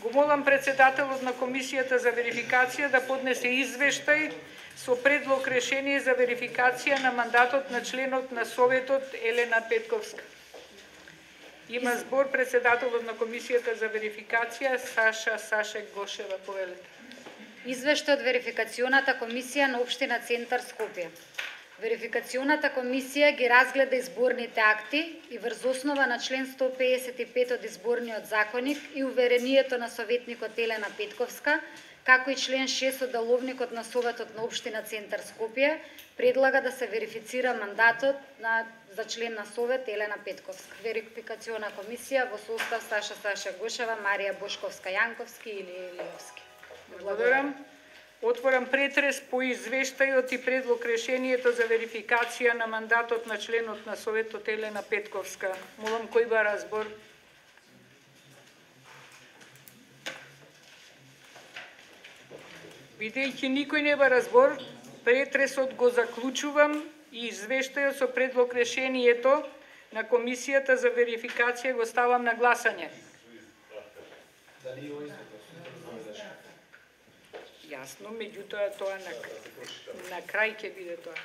Го молам председателот на Комисијата за верификација да поднесе извештај со предлог решение за верификација на мандатот на членот на Советот Елена Петковска. Има збор председателот на Комисијата за верификација Саша Гошева, повелете. Извештај од верификационата комисија на Општина Центар Скопје. Верификационата комисија ги разгледа изборните акти и врз основа на член 155 од изборниот законник и уверението на советникот Елена Петковска, како и член 6 од деловникот на Советот на Општина Центар Скопје, предлага да се верифицира мандатот за член на Совет Елена Петковска. Верификациона комисија во состав Саша Гошева, Марија Бошковска-Јанковски или Илиевски. Благодарам. Отворам претрес по извештајот и предлог решението за верификација на мандатот на членот на Советот Елена Петковска. Молам кој бара збор. Бидејќи никој не бара збор, претресот го заклучувам и извештајот со предлог решението на Комисијата за верификација го ставам на гласање. Јасно, меѓутоа тоа на крај ќе биде тоа.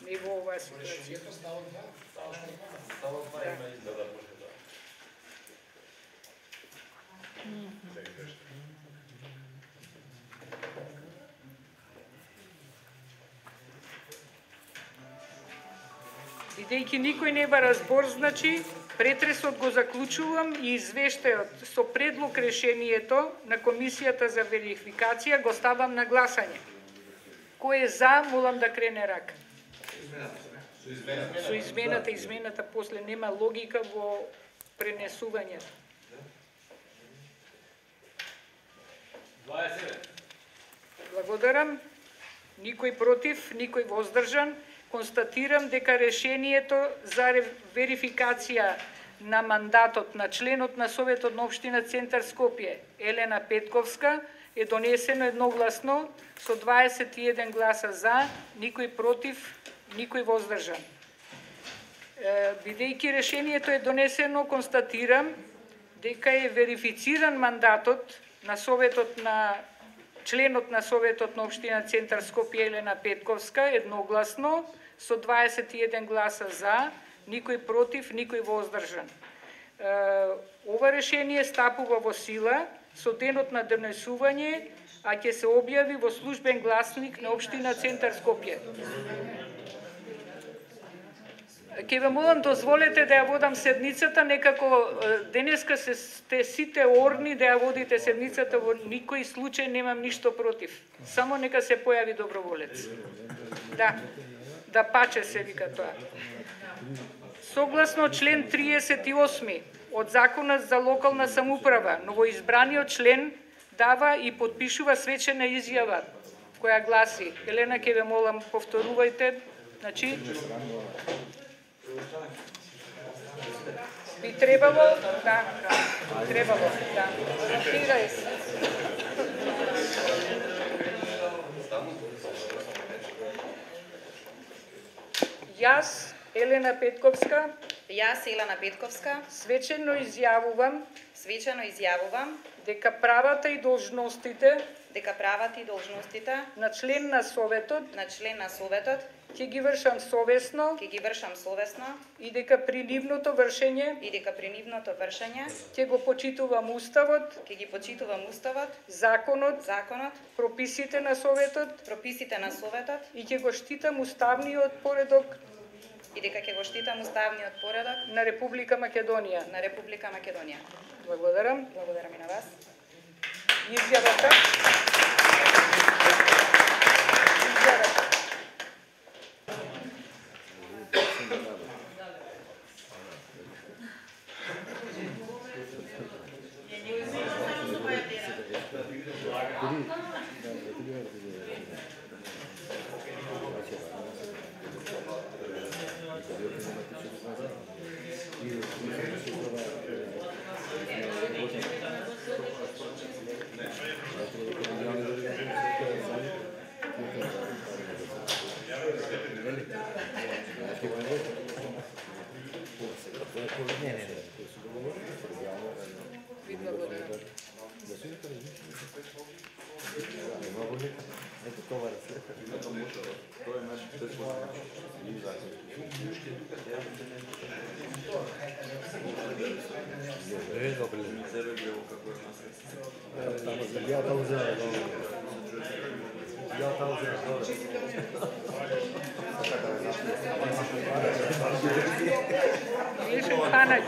Не во оваа ситуација. Бидејќи никој не бара збор, значи, претресот го заклучувам и извештајот со предлог решението на Комисијата за верификација го ставам на гласање. Кој е за, молам да крене рака. Со измената после нема логика во пренесувањето. 20. Благодарам. Никој против, никој воздржан. Констатирам дека решението за верификација на мандатот на членот на Советот на Општина Центар Скопје Елена Петковска е донесено едногласно со 21 гласа за, никој против, никој воздржан. Бидејќи решението е донесено, констатирам дека е верифициран мандатот на членот на Советот на Општина Центар Скопје Елена Петковска едногласно со 21 гласа за, никој против, никој воздржан. Ова решение стапува во сила со денот на донесување, а ќе се објави во службен гласник на Општина Центар Скопје. Ке ве молам, дозволете да ја водам седницата, некако денеска сте сите орни да ја водите седницата, во никој случај немам ништо против. Само нека се појави доброволец. Да паче се вика тоа. Согласно член 38 од Законот за локална самоуправа, новоизбраниот член дава и подпишува свечена изјава, која гласи, Елена, ке ве молам, повторувајте, значи, би требало, да. Фиксирај се. Јас, Елена Петковска, свечено изјавувам дека правата и должностите на член на Советот ќе ги вршам совесно и дека при нивното вршење ќе го почитувам Уставот, законот, прописите на Советот и ќе го штитам уставниот поредок на Република Македонија. Благодарам. Благодарам и на вас. Изјавата. Јешен Ханач.